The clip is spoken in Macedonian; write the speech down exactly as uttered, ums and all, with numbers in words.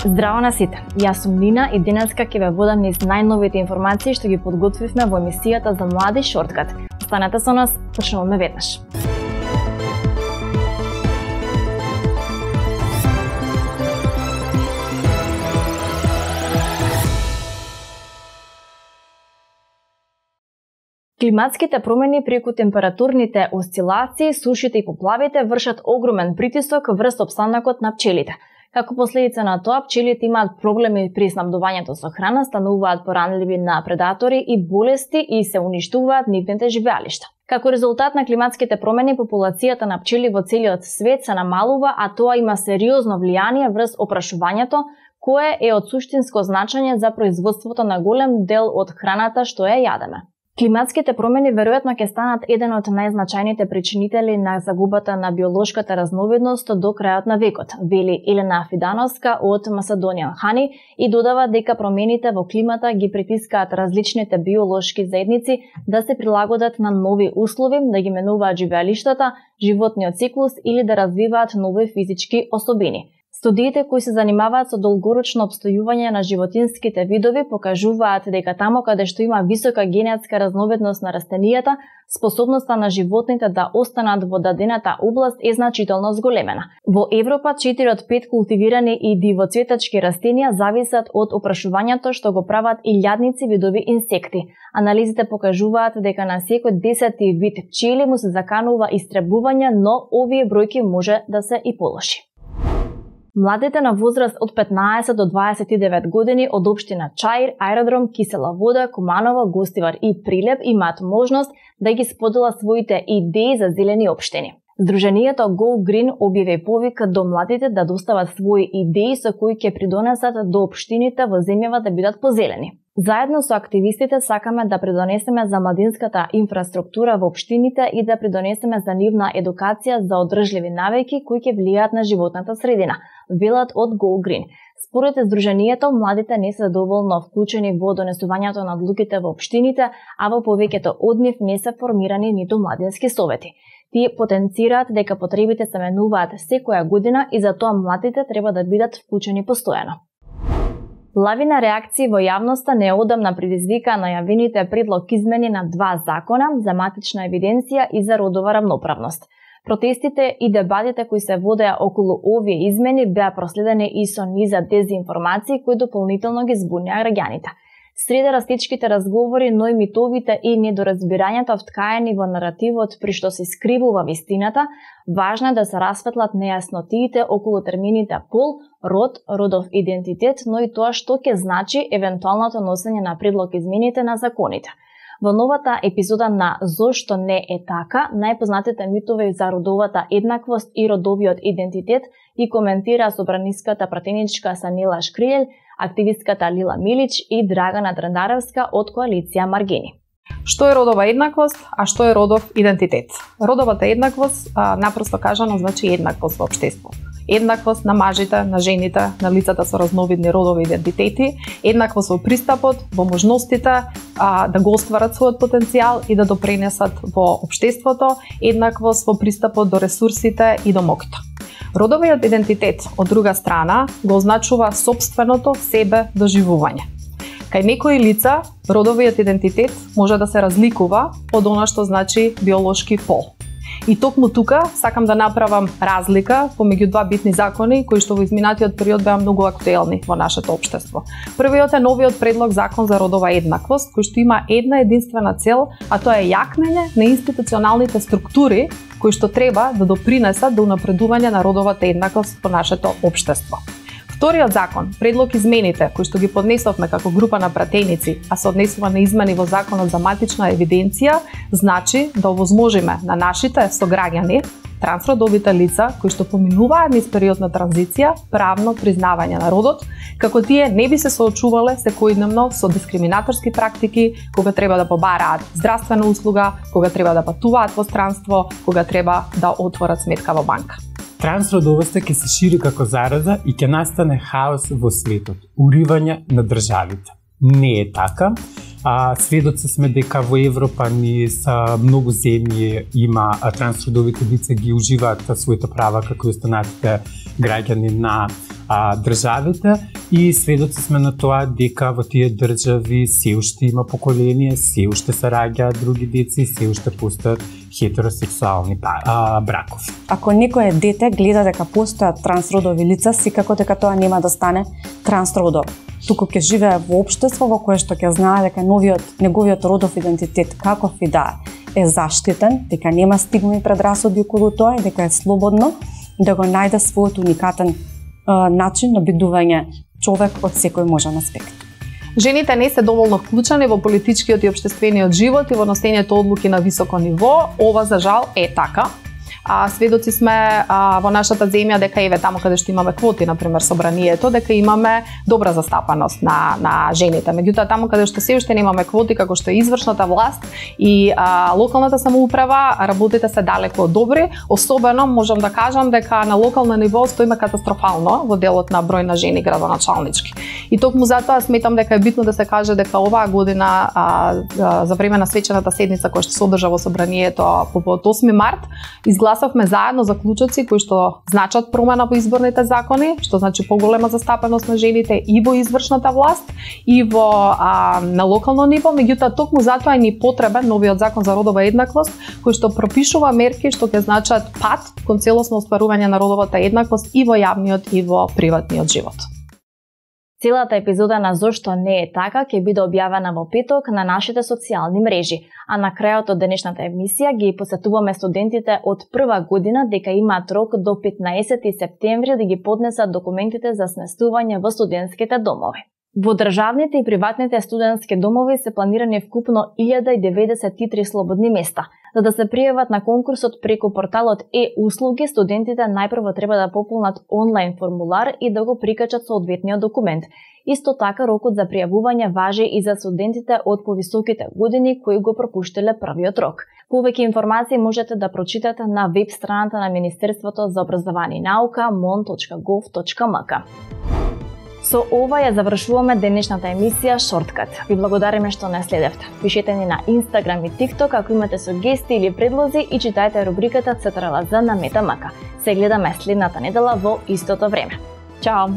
Здраво на сите, јас сум Нина и денеска ќе ве водам низ најновите информации што ги подготвивме во емисијата за млади Шорткат. Останете со нас, почнуваме веднаш. Климатските промени преку температурните осцилации, сушите и поплавите вршат огромен притисок врз опстанокот на пчелите. Како последица на тоа, пчелите имаат проблеми при снабдувањето со храна, стануваат поранливи на предатори и болести и се уништуваат нивните живеалишта. Како резултат на климатските промени, популацијата на пчели во целиот свет се намалува, а тоа има сериозно влијание врз опрашувањето, кое е од суштинско значење за производството на голем дел од храната што ја јадеме. Климатските промени веројатно ќе станат еден од најзначајните причинители на загубата на биолошката разновидност до крајот на векот, вели Елена Фидановска од Macedonian Honey и додава дека промените во климата ги притискаат различните биолошки заедници да се прилагодат на нови услови, да ги менуваат живеалиштата, животниот циклус или да развиваат нови физички особини. Студиите кои се занимаваат со долгорочно обстојување на животинските видови покажуваат дека таму каде што има висока генетска разновидност на растенијата, способноста на животните да останат во дадената област е значително зголемена. Во Европа четири од пет култивирани и дивоцветачки растенија зависат од опрашувањето што го прават илјадници видови инсекти. Анализите покажуваат дека на секој десети вид пчели му се заканува истребување, но овие бројки може да се и полоши. Младите на возраст од петнаесет до дваесет и девет години од општина Чаир, Аеродром, Кисела вода, Куманово, Гостивар и Прилеп имаат можност да ги споделат своите идеи за зелени општини. Здруженијето Go Green објави повик до младите да достават своји идеи со кои ќе придонесат до општините во земјава да бидат позелени. Заедно со активистите сакаме да придонесеме за младинската инфраструктура во општините и да придонесеме за нивна едукација за одржливи навики кои ќе влијаат на животната средина, велат од Go Green. Според здруженијето, младите не се доволно вклучени во донесувањето на одлуките во општините, а во повеќето од нив не се формирани ниту младински совети. Тие потенцираат дека потребите се менуваат секоја година и затоа младите треба да бидат вклучени постојано. Лавина реакции во јавноста неодамна предизвика најавените предлог измени на два закона за матична евиденција и за родова рамноправност. Протестите и дебатите кои се водеа околу овие измени беа проследени и со низа дезинформации кои дополнително ги збунеа граѓаните. Среде растичките разговори, но и митовите и недоразбирањата вткаени во наративот при што се скривува вистината, важно е да се расветлат нејаснотиите околу термините пол, род, родов идентитет, но и тоа што ќе значи евентуалното носење на предлог измените на законите. Во новата епизода на Зошто не е така, најпознатите митови за родовата еднаквост и родовиот идентитет и коментира собраниската пратеничка Санила Шкрилјел, активистката Лила Милич и Драгана Драндаревска од коалиција Маргини. Што е родова еднаквост, а што е родов идентитет? Родовата еднаквост, а, напросто кажано, значи еднаквост во општество. Еднаквост на мажите, на жените, на лицата со разновидни родови идентитети, еднаквост во пристапот, во можностите а, да го остварат својот потенцијал и да допринесат во општеството, еднаквост во пристапот до ресурсите и до моќта. Родовиот идентитет, од друга страна, го означува сопственото себе доживување. Кај некои лица, родовиот идентитет може да се разликува од она што значи биолошки пол. И токму тука сакам да направам разлика помеѓу два битни закони кои што во изминатиот период беа многу актуелни во нашето општество. Првиот е новиот предлог закон за родова еднаквост, кој што има една единствена цел, а тоа е јакнење на институционалните структури кои што треба да допринесат до унапредување на родовата еднаквост во нашето општество. Вториот закон, предлог измените, кои што ги поднесовме како група на пратеници, а се однесува на измени во Законот за матична евиденција, значи да овозможиме на нашите сограѓани, трансродовите лица, кои што поминуваат низ период на транзиција, правно признавање на родот, како тие не би се соочувале секојдневно со дискриминаторски практики, кога треба да побараат здравствена услуга, кога треба да патуваат во странство, кога треба да отворат сметка во банка. Трансродовоста ќе се шири како зараза и ќе настане хаос во светот, уривање на државите. Не е така. А, сведоци сме дека во Европа низ многу земји има трансродовите лица ги уживаат своите права како и останатите граѓани на а, државите и сведоци сме на тоа дека во тие држави се уште има поколение, се уште се раѓаат други деца и се уште постојат хетеросексуални а, бракови. Ако некое дете гледа дека постојат трансродови лица, секако дека тоа нема да стане трансродов. Туку ќе живее во општество во кое што ќе знае дека новиот, неговиот родов идентитет, каков и да е заштитен, дека нема стигми и предрасуди околу тоа и дека е слободно да го најде својот уникатен е, начин на бидување човек од секој можен аспект. Жените не се доволно вклучени во политичкиот и општествениот живот и во носењето одлуки на високо ниво. Ова за жал е така. А, сведоци сме а, во нашата земја дека еве таму каде што имаме квоти, на пример собранието, дека имаме добра застапаност на на жените. Меѓутоа таму каде што се уште немаме квоти, како што е извршната власт и а, локалната самоуправа, работите се далеку од добри. Особено можам да кажам дека на локално ниво стоиме катастрофално во делот на број на жени градоначалнички. И токму затоа сметам дека е битно да се каже дека оваа година а, а, за време на свечената седница која што се одржа во собранието по осми март изгласа Гласавме заедно заклучоци кои што значат промена во изборните закони, што значи поголема застапеност на жените и во извршната власт и во а, на локално ниво, меѓутоа токму затоа е ни потребен новиот закон за родова еднаквост кој што пропишува мерки што ќе значат пат кон целосно остварување на родовата еднаквост и во јавниот и во приватниот живот. Целата епизода на Зошто не е така ќе биде објавена во петок на нашите социјални мрежи, а на крајот од денешната емисија ги посетуваме студентите од прва година дека имаат рок до петнаесети септември да ги поднесат документите за сместување во студентските домови. Во државните и приватните студентски домови се планирани вкупно илјада деветдесет и три слободни места. За да се пријават на конкурсот преку порталот е-услуги, студентите најпрво треба да пополнат онлайн формулар и да го прикачат соодветниот документ. Исто така, рокот за пријавување важи и за студентите од повисоките години кои го пропуштиле првиот рок. Повеќе информации можете да прочитате на веб страната на Министерството за образование и наука мон точка гов точка ем ка. Со ова ја завршуваме денешната емисија Шорткат. Ви благодариме што не следевте. Пишете ни на Инстаграм и ТикТок ако имате сугестии или предлози и читајте рубриката Централа З на Мета ем ка. Се гледаме следната недела во истото време. Чао!